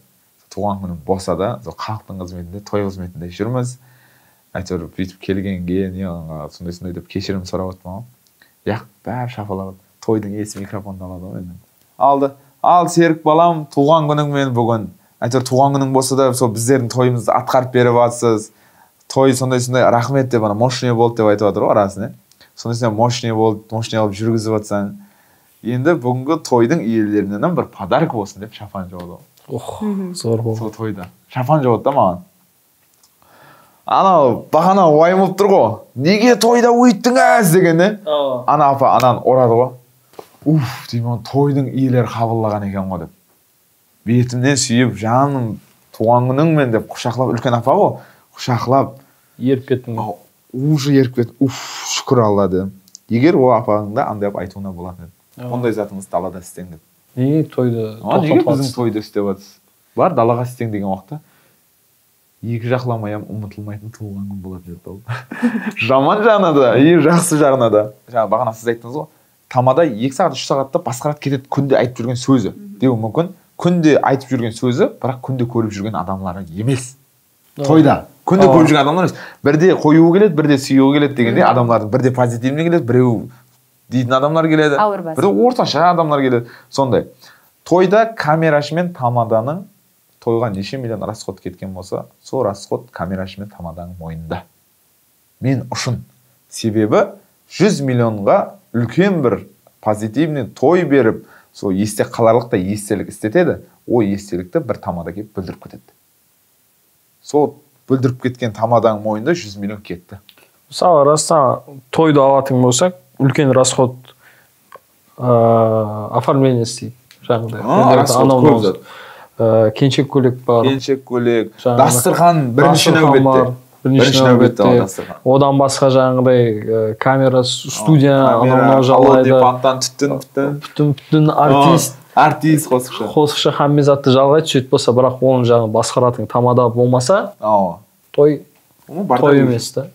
Speaker 2: Туған күнім болса да, халықтың қызметінде, той қызметінде жүрміз. Әйтеуір бүйтіп келгенге, сондай деп кешірім сұрап отырмын. Бәрі шапалап, тойдың иесі микрофонды алады ғой енді. Алды. Ал Серік балам, туған күніңмен бүгін. Әйтеуір туған күнің болса да, сол біздердің тойымызды атқарып беріп жатсыз. Той сондай рахмет деп, мощный болды деп айтып жатыр ғой арасын. Сондай мощный болды, мощный алып жүргізіп жатсаң. Енді бүгінгі тойдың иелерінен бір подарок болсын деп шапан жауды.
Speaker 3: Зор болды.
Speaker 2: Сол тойда. Шапан жауды да маған. Анау бағана уайым болып тұр ғой. Неге тойда өйттіңіз дегенде, ана апа ананы орады ғой. Деймін, тойдың иелері қабылдаған екен ғой деп. Бетімнен сүйіп, жаным, туған күніңмен деп құшақлап, үлкен апа ғой, құшақлап.
Speaker 3: Еріп кеттің ғой.
Speaker 2: Уже еріп кеттім. Шүкір Алла дедім. Егер ол апаңда андай айтуына болатын еді. Ондай затыңыз далада істең деп.
Speaker 3: Неге тойды тоқтатып
Speaker 2: неге біздің тойды істеп жатсыз? Бар, далаға істең деген уақытта. Екі жақламай ұмытылмайтын туған күн болады деді. Жаман жағына да, жақсы жағына да. Жаңа бағана сіз айттыңыз ғой. Тамада 2 сағат, 3 сағатта басқарат кетеді күнде айтып жүрген сөзі. Деуі мүмкін. Күнде айтып жүрген сөзі, бірақ күнде көріп жүрген адамлары емес. Тойда. Күнде көріп жүрген адамлар емес. Бірде қоюы келеді, бірде сүйеуі келеді дегенде адамлардың бірде позитивный келеді, біреу дейтін адамлар келеді. Бірде орташа адамлар келеді. Сондай. Тойда камерашы мен тамаданың тойға неше миллион расход кеткен болса, сол расход камерашы мен тамаданың мойнында. Мен үшін. Себебі 100 миллионға үлкен бір позитивный той беріп, сол есте қаларлықтай естелік істетеді, о естелікті бір тамада келіп бүлдіріп кетеді. Сол бүлдіріп кеткен тамаданың мойнында 100 миллион кетті.
Speaker 3: Мысалы, растан тойды алатын болсақ, үлкен расход оформление істейді.
Speaker 2: Расход көп зат.
Speaker 3: Кеншек көйлек бар.
Speaker 2: Кеншек көйлек, дастырхан бірінші нәубетте.
Speaker 3: Одан басқа жаңағыдай камера, студия, анау жалайды.
Speaker 2: Пантан
Speaker 3: түтін
Speaker 2: артист қосықшы.
Speaker 3: Қосықшы хаммезатты жалғайды, сөйт болса, бірақ оның жаңа басқаратын тамада болмаса, той емес та.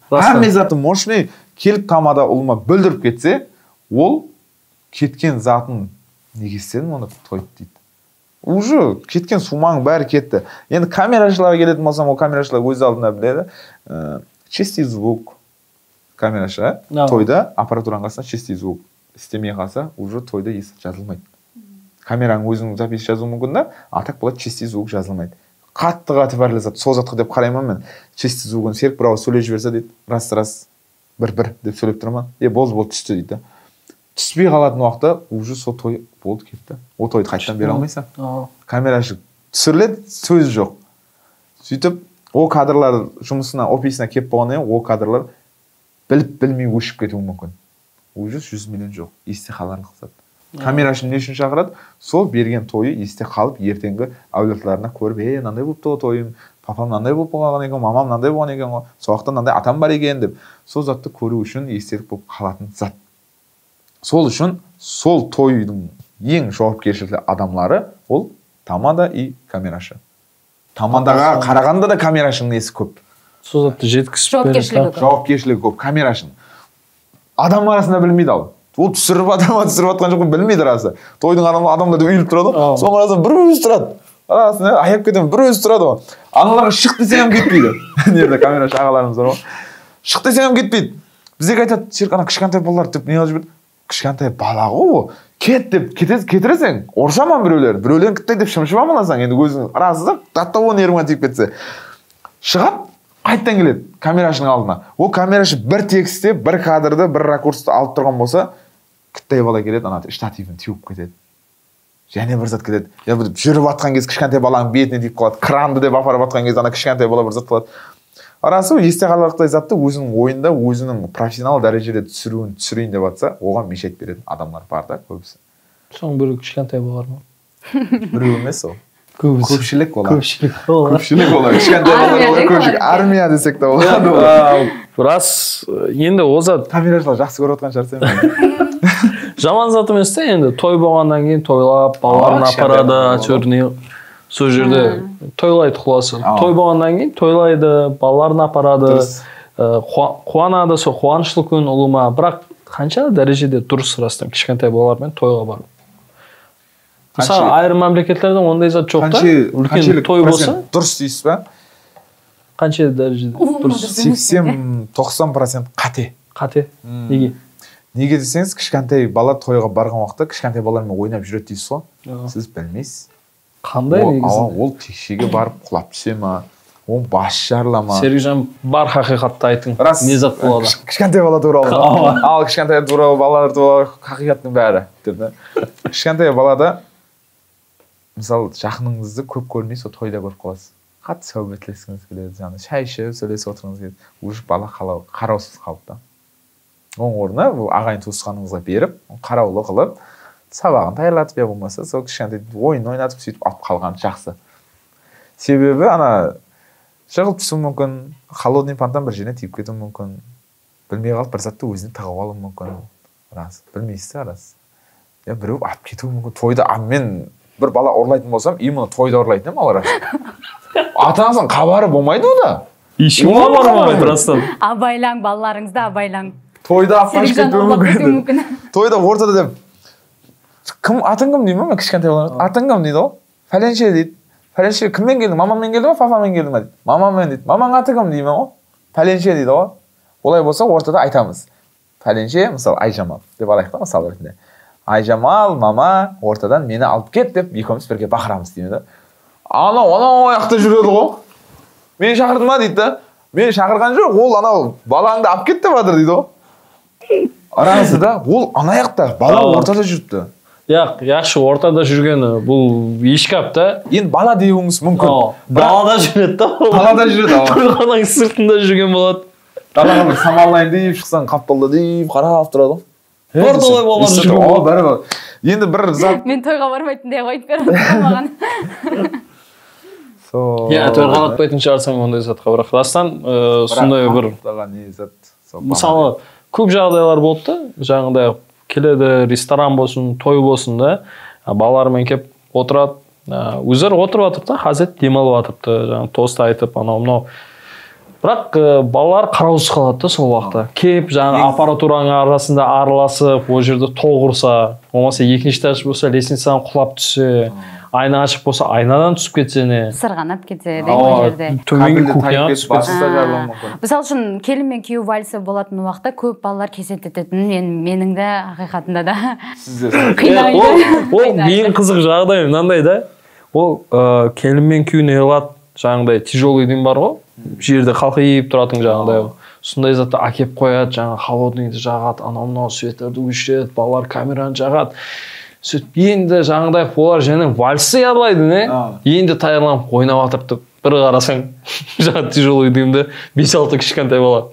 Speaker 2: Хаммезаты мощный келіп тамада ұлыма бүлдіріп кетсе, ол кеткен затын неге істедің, оны тойды дейді. Уже кеткен сумаң бәрі кетті. Енді камерашыларға келетін болсам, ол камерашылар өз алдына біледі. Чистый звук камерашы, тойда аппаратураның қасына чистый звук істемей қалса, уже тойда есі жазылмайды. Камераның өзінің запись жазу мүмкін да, а так болады чистый звук жазылмайды. Қатты бәрі зат, сол затқа деп қараймын мен. Чистый звугын Серік бірауыз сөйлеп жіберсе дейді, раз, бір деп сөйлеп тұрман. Болды түсті дейді. Түспей қалатын уақытта уже сол той болды кетті. Ол тойды қайттан бере алмайсың. Камерашы түсіріледі, сөз жоқ. Сөйтіп ол кадрлар жұмысына офисіне келіп болғаннан кейін ол кадрлар біліп білмей өшіп кетуі мүмкін. Уже 100 миллион жоқ, есте қаларлық зат. Камерашы не үшін шақырады? Сол берген тойы есте қалып, ертеңгі әулетлеріне көріп, мынандай болыпты ғой тойым, папам мынандай болып қалған екен, мамам мынандай болған екен ғой, сол уақытта мынандай атам бар екен деп, сол затты көру үшін естелік болып қалатын зат. Сол үшін сол тойдың ең жауапкершілікті адамлары ол тамада и камерашы. Тамадаға қарағанда да камерашының несі көп.
Speaker 3: Сол затты жеткізіп
Speaker 2: жауапкершілігі көп камерашының. Адам арасында білмейді ал. Ол түсіріп атқан жоқ, білмейді расы. Тойдың адамдарды үйіліп тұрады, соң арасында бір өзі тұрады. Арасында аяп кетемін, бір өзі тұрады ғой. Аналарға шық десең кетпейді. Нерде камерашы ағаларымыз бар ғой. Шық десең кетпейді. Біздегі айтады, шеркана кішкентай балалар деп не жазып жүрді. Кішкентай бала ғой, кет деп кетіресең, оршаман біреулерін кіттай деп шымшып амаласаң, енді өзің арасында даттауын еріңе тиіп кетсе. Шығады, қайттан келеді камерашының алдына. Ол камерашы бір текстте, бір кадрды, бір ракурсты алып тұрған болса, кіттай бала келеді, ана штативін теуіп кетеді. Және бір зат кетеді. Я жүріп атқан кез кішкентай баланың бетіне тиіп қалады. Кранды деп апарып атқан кез ана кішкентай бала бір зат қалады. Арасы есте қаларлықтай затты өзінің ойында, өзінің профессионал дәрежеде түсірейін деп атса, оған мешайт беретін адамдар бар да көбісі.
Speaker 3: Соң бір кішкентай болар ма?
Speaker 2: Біреу емес ол.
Speaker 3: Көпшілік
Speaker 2: олар.
Speaker 3: Көпшілік
Speaker 2: олар. Кішкентай балалар көпшілік. Армия десек те болады.
Speaker 3: Рас, енді ол зат
Speaker 2: камерашылар жақсы көріп отқан шығар сен.
Speaker 3: Жаман зат емес те, енді той болғаннан кейін тойлап, балаларын апарады, әйтеуір сол жерде тойлайды құласы. Той болғаннан кейін тойлайды, балаларын апарады, қуанады, сол қуанышлы күн ұлыма. Бірақ қанша дәрежеде дұрыс растан кішкентай балалармен тойға бару. Мысалы, айрым мемлекеттерде ондай зат жоқ та, үлкен той болса.
Speaker 2: Дұрыс дейсіз ба?
Speaker 3: Қанша дәрежеде дұрыс?
Speaker 2: 80-90% қате.
Speaker 3: Қате? Неге?
Speaker 2: Неге десеңіз, кішкентай бала тойға барған уақытта кішкентай балалармен ойнап жүреді дейсіз ғой. Сіз білмейсіз.
Speaker 3: Қандай негізінде?
Speaker 2: Ол текшеге барып құлап түсе ма? Ол бас жарыла ма?
Speaker 3: Сергейжан, бар хақиқатты айтың. Не зат болады?
Speaker 2: Кішкентай бала туралы. Ал кішкентай туралы балалар туралы хақиқаттың бәрі. Кішкентай балада мысалы жақыныңызды көп көрмей сол тойда көріп қаласыз. Қатты сәубетлескіңіз келеді, жаңа шай ішіп сөйлесіп отырғыңыз келеді. Уже бала қараусыз қалыпты. Оның орнына ағайын туысқаныңызға беріп, қараулы қылып, сабағын таярлатып я болмаса, сол кішкентай ойын ойнатып сөйтіп алып қалған жақсы. Себебі ана жығылып түсу мүмкін, холодный понтан бір жеріне тиіп кетуі мүмкін, білмей қалып бір затты өзіне тығып алуы мүмкін. Рас, білмейсіз рас. Я біреу алып кетуі мүмкін. Тойда мен бір бала ұрлайтын болсам, именно тойда ұрлайтын едім алар. Ата-анасының хабары болмайды ода.
Speaker 3: Ешкім хабары болмайды растан.
Speaker 1: Абайлаң, балаларыңызды абайлаң.
Speaker 2: Тойда қашып кетуі мүмкін. Тойда ортада деп кім атың кім деймін мен кішкентай балам. Атың кім дейді ғой? Фәленше дейді. Фәленше кіммен келдің? Мамаммен келдің ба, папамен келдің ба дейді. Мамаммен дейді. Мамаң аты кім деймін ғой? Фәленше дейді ғой. Олай болса ортада айтамыз. Фәленше, мысалы Айжамал деп алайық та мысалы ретінде. Айжамал, мама ортадан мені алып кет деп екеуміз бірге бақырамыз деймін да. Анау аяқта жүреді ғой. Мені шақырдың ба дейді да. Мені шақырған жоқ, ол анау балаңды алып кет деп жатыр дейді ғой. Арасында ол ана аяқта, бала ортада жүріпті.
Speaker 3: Яқшы ортада жүргені бұл ешкап та.
Speaker 2: Енді бала деуіңіз мүмкін.
Speaker 3: Далада жүреді да.
Speaker 2: Далада жүреді.
Speaker 3: Тойхананың сыртында жүрген болады.
Speaker 2: Далаға бір самалайын deyіп шықсаң қапталда deyіп қарап тұрады ғой.
Speaker 3: Орталай балалар жүрген болады.
Speaker 2: Енді бір зат.
Speaker 1: Мен тойға бармайтын деп айтып беріп маған.
Speaker 3: Тойға атпайтын шығарсаң ондай затқа бірақ растан сондай бір мысалы көп жағдайлар болды да, жаңағыдай келеді ресторан болсын, той болсын да, балалармен келіп отырады, өздері отырып жатыр да, хазет демалып жатырды, жаңағы тост айтып, анау-мынау. Бірақ балалар қараусыз қалады да сол уақытта. Кеп, жаңағы аппаратураның арасында араласып, ол жерде толғырса, болмаса екінші этаж болса, лестницадан құлап түссе, айна ашық болса, айнадан түсіп кетсе не?
Speaker 1: Сырғанап кетсе де ол жерде.
Speaker 3: Төменгі кухняға түсіп кетсе.
Speaker 1: Мысалы үшін келін мен күйеу вальсі болатын уақытта көп балалар кесетететін, менің де ақиқатында да қинайды.
Speaker 3: Ол ең қызық жағдай мынандай да. Ол келін мен күйеу неғылады, жаңағыдай тяжелый дем бар ғой. Жерде қалқиып тұратын жаңағыдай. Сондай затты әкеп қояды, жаңағы холодныйды жағады, анау-мынау светтерді өшіреді, балалар камераны жағады. сөйтіп енді жаңағыдай олар және вальсты ябылайды не енді таярланып ойнап жатырды бір қарасаң жаңағы тяжелый дымды 5-6 кішкентай бала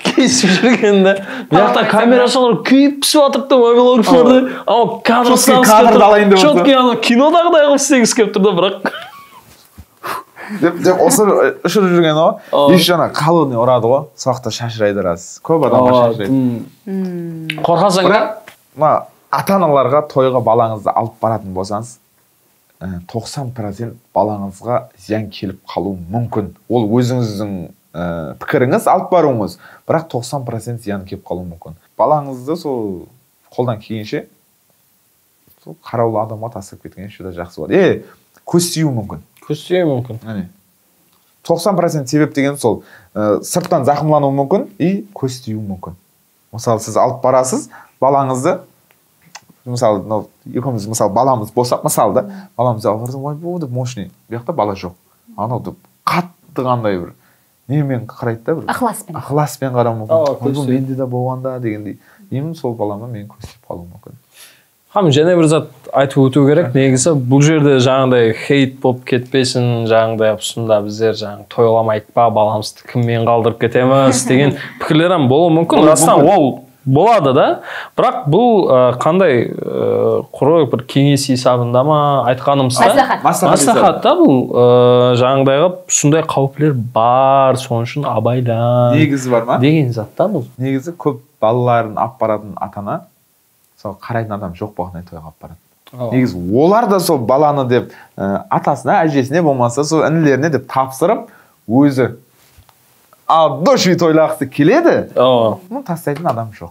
Speaker 3: кесіп жүргенде мына камера шалар күйіп пісіп жатырды мобилографларды ана кадр салып четкий ана кинодағыдай қылып істегісі келіп тұр да бірақ
Speaker 2: деп осы ұшырып жүрген ғой еще ана колонный ұрады ғой сол жақта шашырайды рас көп адамға шашырайды
Speaker 3: қорқасың да
Speaker 2: мына ата аналарға тойға балаңызды алып баратын болсаңыз 90% балаңызға зиян келіп қалуы мүмкін ол өзіңіздің пікіріңіз алып баруыңыз бірақ 90% зиян келіп қалуы мүмкін балаңызды сол қолдан келгенше сол қараулы адамға тастап кеткен шүда жақсы болады көз тиюі мүмкін 90% себеп деген сол сырттан зақымлануы мүмкін и көз тиюі мүмкін мысалы сіз алып барасыз балаңызды мысалы екеуміз мысалы баламыз болсақ мысалы да баламызды алып барсам ой бұл деп мощный бұл жақта бала жоқ анау деп қатты қандай бір немен қарайды да бір ықыласпен қарауы мүмкін менде де болғанда дегендей именно сол балама мен көз тиіп қалуым мүмкін
Speaker 3: және бір зат айтып өту керек негізі бұл жерде жаңағыдай хейт болып кетпесін жаңағыдай ұсында біздер жаңағы тойламайық па баламызды кіммен қалдырып кетеміз деген пікірлер болуы мүмкін растан ол болады да бірақ бұл қандай құры бір кеңес есебінде ма айтқанымызда маслихат та бұл жаңағыдай қылып сондай қауіптер бар сол үшін абайдан
Speaker 2: негізі бар ма
Speaker 3: деген зат та бұл
Speaker 2: негізі көп балаларын алып баратын ата ана сол қарайтын адам жоқ болғандай тойға алып барады негізі олар да сол баланы деп атасына әжесіне болмаса сол інілеріне деп тапсырып өзі души тойлағысы келеді тастайтын адам жоқ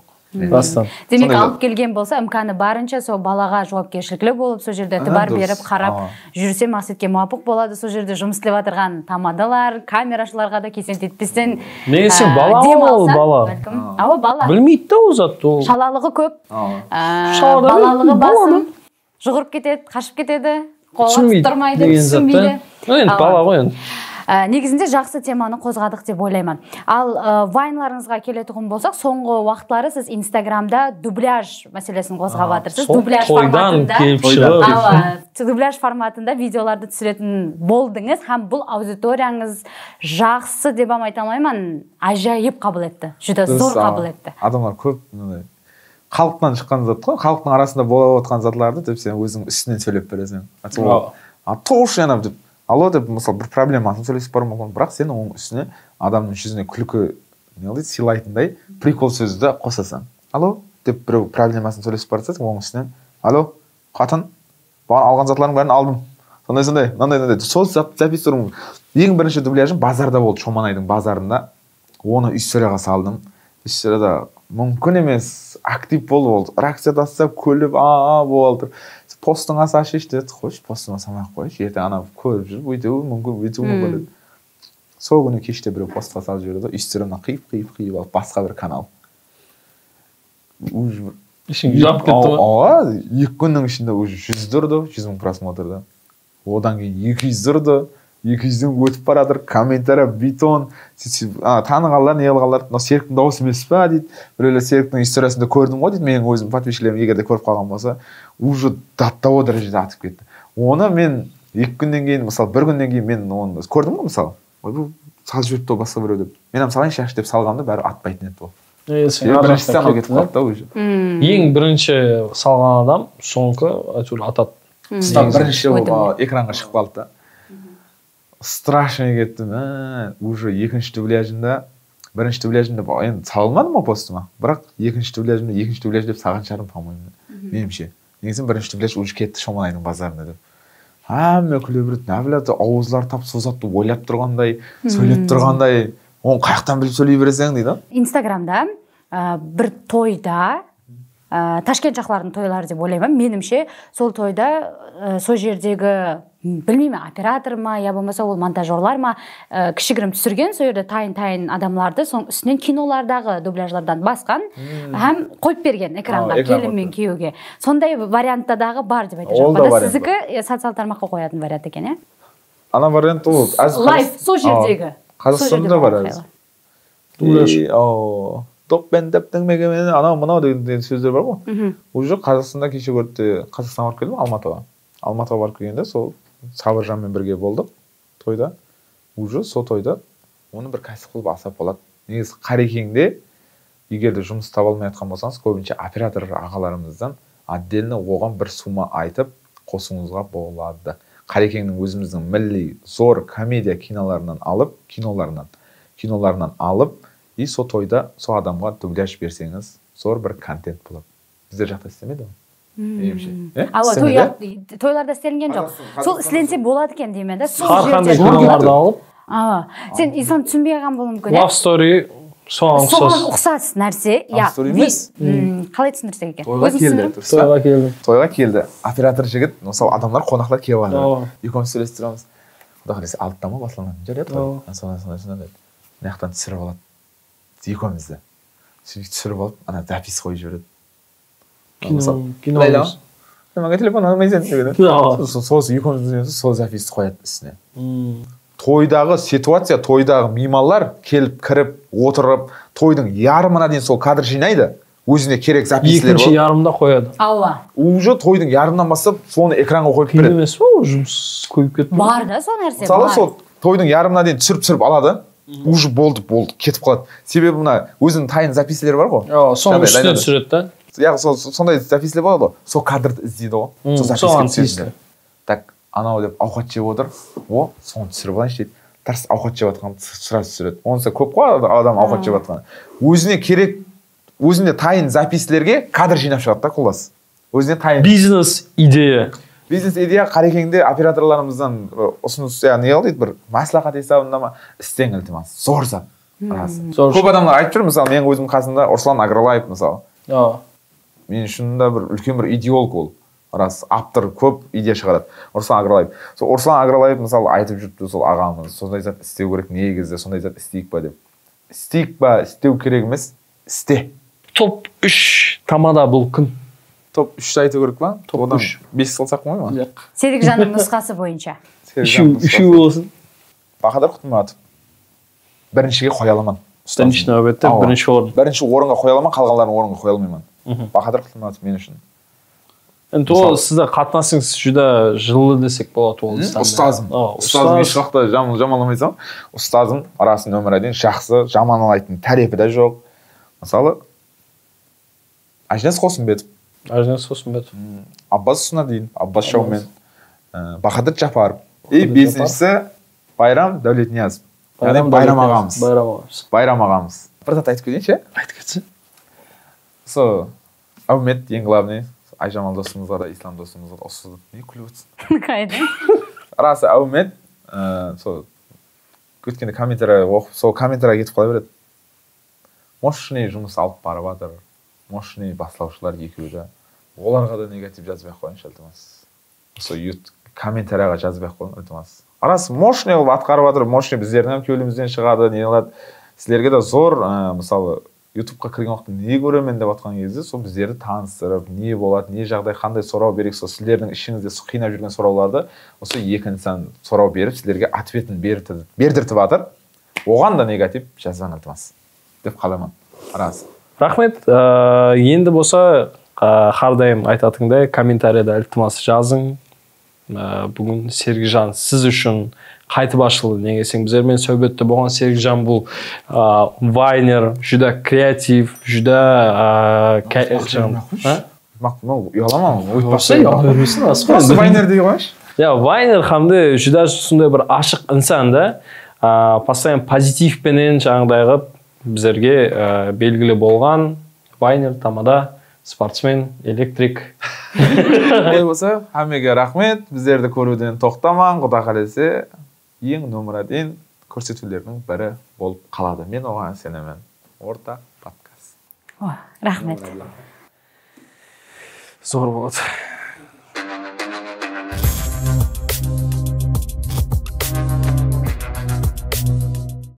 Speaker 1: демек алып келген болса имканы барынша сол балаға жауапкершіліклі болып сол жерде бар беріп қарап жүрсе мақсатқа муафық болады сол жерде жұмыс істеп жатырған тамадалар камерашыларға да кесел етпестен
Speaker 3: бала білмейді да ол зат
Speaker 1: шалалығы көп балалығы басым жүгіріп кетеді қашып кетеді қолға тұрмайды түсінбейді
Speaker 3: бала ғой енді
Speaker 1: негізінде жақсы теманы қозғадық деп ойлаймын ал вайнларыңызға келетін болсақ соңғы уақыттары сіз инстаграмда дубляж мәселесін қозғап жатырсыз дубляж форматында видеоларды түсіретін болдыңыз һәм бұл аудиторияңыз жақсы деп айта алмаймын ажайып қабыл етті жүдә зор қабыл етті
Speaker 2: адамдар көп халықтан шыққан зат қой халықтың арасында болып отқан затларды деп сен өзің үстінен сөйлеп бересің деп алло деп мысалы бір проблемасын сөйлесіп бару мүмкін бірақ сен оның үстіне адамның жүзіне күлкі сыйлайтындай прикол сөзді қосасың алло деп біреу проблемасын сөйлесіп бара жатса оның үстінен алло қатын алған затлардың бәрін алдым сондай мынандай сол записываю ең бірінші дубляжым базарда болды Шоманайдың базарында оны историяға салдым историяда мүмкін емес актив болып реакция тастап күліп болып постыңа шеш деді қойшы постыңа салмай ақ қойшы ертең ана көріп жүріп өйтеуі мүмкін сол күні кеште біреу постқа салып жіберді историяны қиып алып басқа бір канал
Speaker 3: ішің жап кетті
Speaker 2: ғой 2 күннің ішінде уже 100 тұрды 100 000 просмотрда одан кейін 200 тұрды 200-ден өтіп бара жатыр комментарий бетон танығанlar не қылғанlar мынау Серіктің дауысы емес па дейді біреулер Серіктің историясында көрдім ғой дейді менің өзім подписчиктерім егер де көріп қалған болса уже даттауы дәрежеде атып кетті оны мен 2 күннен кейін мысалы 1 күннен кейін мен оны көрдім ғой мысалы ой бұл салып жіберіпті ғой басқа біреу деп мен салайыншы деп салғанда бәрі атпайтын еді ол
Speaker 3: ең бірінші салған адам соңғы әйтеуір атады
Speaker 2: бірінші экранға шығып қалды да страшно кетті уже екінші дубляжында бірінші дубляжында енді салмадым ма постыма бірақ екінші дубляж деп салған шығармын по-моему меніңше негізі бірінші дубляж уже кетті Шоманайдың базарына деп әмме күле береді нәбілаты ауызлар тап созатты ойлап тұрғандай сөйлеп тұрғандай оны қаяқтан біліп сөйлей бересің дейді
Speaker 1: инстаграмда бір тойда Ташкент жақлардың тойлары деп ойлаймын менімше сол тойда сол жердегі білмеймін оператор ма я болмаса ол монтажерлар ма кішігірім түсірген сол жерде тайын адамларды соның үстінен кинолардағы дубляжлардан басқан һәм қойып берген экранға келін мен күйеуге сондай варианттадағы бар деп айта жатырмын сіздікі социал тармаққа қоятын вариант екен
Speaker 2: ана вариант ол
Speaker 1: лайв сол жердегі
Speaker 2: Қазақстанда бар доппен дептің мегемен анау мынау деген сөздер бар ғой. Уже Қазақстанда кеше көрді, Қазақстанға барып келдім, Алматыға барып келгенде сол Сабыржанмен бірге болдық тойда. Уже сол тойда оны бір кәсіп қылып алсақ болады. Негізі Қарекеңде егер де жұмыс таба алмай жатқан болсаңыз, көбінше оператор ағаларымыздан отдельно оған бір сума айтып қосуыңызға болады. Қарекеңнің өзіміздің милли зор комедия киноларынан алып, и сол тойда сол адамға дубляж берсеңіз, зор бір контент болады. Біздер жақта істемейді ғой.
Speaker 1: Тойларда істелінген жоқ. Сол істеленсе болады екен деймін да.
Speaker 3: Har qanday киноларды алып.
Speaker 1: Сен инсан түсінбей қалған болуы мүмкін.
Speaker 3: Love story соған
Speaker 1: ұқсас нәрсе. Қалай түсіндірсек екен?
Speaker 2: Тойға келді. Оператор жігіт, мысалы адамдар қонақлар келіп жатыр. Екеуміз сөйлесіп тұрамыз. Құдай қаласа алтыда ма басылған жарайды ғой. Сондай деді. Мына жақтан түсіріп алады. Екеумізді. Түсіріп алып, ана запись қойып жібереді.
Speaker 3: Кино.
Speaker 2: Маған телефон алмайсың деді. Сол екеумізді сол записьті қояды үстіне. Тойдағы ситуация, тойдағы меймандар келіп кіріп отырып, тойдың ярымына дейін сол кадр жинайды. Өзіне керек записьлер бар.
Speaker 3: Екінші ярымда қояды.
Speaker 2: Уже тойдың ярымынан бастап соны экранға қойып береді.
Speaker 3: Емес па, жұмыс көйіп кетті.
Speaker 1: Бар да сол нәрсе.
Speaker 2: Мысалы сол тойдың ярымына дейін түсіріп алады. Уже болды, кетіп қалады. Себебі мына өзінің тайын записьлер бар ғой.
Speaker 3: Соның үстіне түсіреді да.
Speaker 2: Яғни сондай записьлер болады ғой. Сол кадрды іздейді ғой. Сол запиське түсіреді. Так, анау деп ауқат жеп отыр. Соны түсіріп алайыншы дейді. Тарс ауқат жеп жатқан сразу түсіреді. Онысы көп қой адам ауқат жеп жатқан. Өзіне керек, өзіне тайын записьлерге кадр жинап шығады да құлас. Өзіне тайын
Speaker 3: бизнес идея.
Speaker 2: Бизнес идея Қарекеңде операторларымыздан ұсыныс, не қыл дейді, бір маслихат есебінде ма істең ілтимас. Зор зат. Көп адамдар айтып жүр, мысалы менің өзім қасымда Руслан Агралаев мысалы. Мен үшін да бір үлкен бір идеолог ол. Рас, автор көп идея шығарады. Руслан Агралаев. Сол Руслан Агралаев мысалы айтып жүрді сол ағамыз, сондай зат істеу керек, негізі сондай зат істейік па деп. Істейік па, істеу керек емес, істе.
Speaker 3: Топ 3 тамада бұл күн.
Speaker 2: Топ 3 айту керек па? Топ 3. 5 қылсақ қой ма?
Speaker 1: Серікжанның нұсқасы бойынша.
Speaker 3: Үшеу болсын.
Speaker 2: Бақадар Құтматов. Біріншіге қоя аламын.
Speaker 3: Бірінші нәубетте бірінші орын.
Speaker 2: Бірінші орынға қоя аламын, қалғандарын орынға қоя алмаймын. Бақадар Құтматов мен үшін.
Speaker 3: Енді ол сізді қатынасыңыз жүда жылы десек болады ол.
Speaker 2: Ұстазым. Ұстазым еш уақытта жаманламайсам. Ұстазым арасын өмір дейін жақсы, жаманлайтын тәрепі де жоқ. Мысалы, Ажнес Қосымбетов. Аббас Сунадин, Аббас Шаумен, Бахадыр Жапаров. И бесіншісі Байрам Дәулетниязов. Яғни Байрам ағамыз. Бір зат айтып кетейінші?
Speaker 3: Айтып кетсін.
Speaker 2: Сол, Әумет ең главный. Айжамал досымызға да, Ислам досымызға да осы не күліп отырсың?
Speaker 1: Қайда?
Speaker 2: Расы Әумет, сол өткенде комментария оқып, сол комментария кетіп қала береді. Мощный жұмыс алып барып жатыр. Мощный басылаушылар екеуі де. Оларға да негатив жазбай қойыншы, ілтимас. Сол комментарияға жазбай қойын, ілтимас. Арасы мощный қылып атқарып жатыр, мощный біздердің кеулімізден шығады, не қылады. Сіздерге де зор, мысалы, ютубқа кірген уақытта не көремін деп жатқан кезде сол біздерді таныстырып, не болады, не жағдай, қандай сұрау берек, сол сіздердің ішіңізде қинап жүрген сұрауларды осы екі инсан сұрау беріп, сіздерге ответін бердіртіп жатыр. Оған да негатив жазбан ілтимас деп қаламын. Рас.
Speaker 3: Рахмет. Енді болса, әрдайым айтатындай комментарияда ілтимас жазың. Бүгін Серікжан сіз үшін қайтып ашылды. Неге десең, біздермен сөйбетте болған Серікжан бұл вайнер, жүда креатив, жүда
Speaker 2: вайнер дей қойшы.
Speaker 3: Вайнер хамды жүда сондай бір ашық инсан да, постоянно позитивпенен жаңағыдай біздерге белгілі болған вайнер, тамада, спортсмен, электрик.
Speaker 2: Олай болса, хамеге рахмет. Біздерді көруден тоқтаман, құда қалесе ең нөмір один көрсетулердің бірі болып қалады. Мен оған сенемін. Орта подкаст.
Speaker 1: Рахмет.
Speaker 3: Зор болады.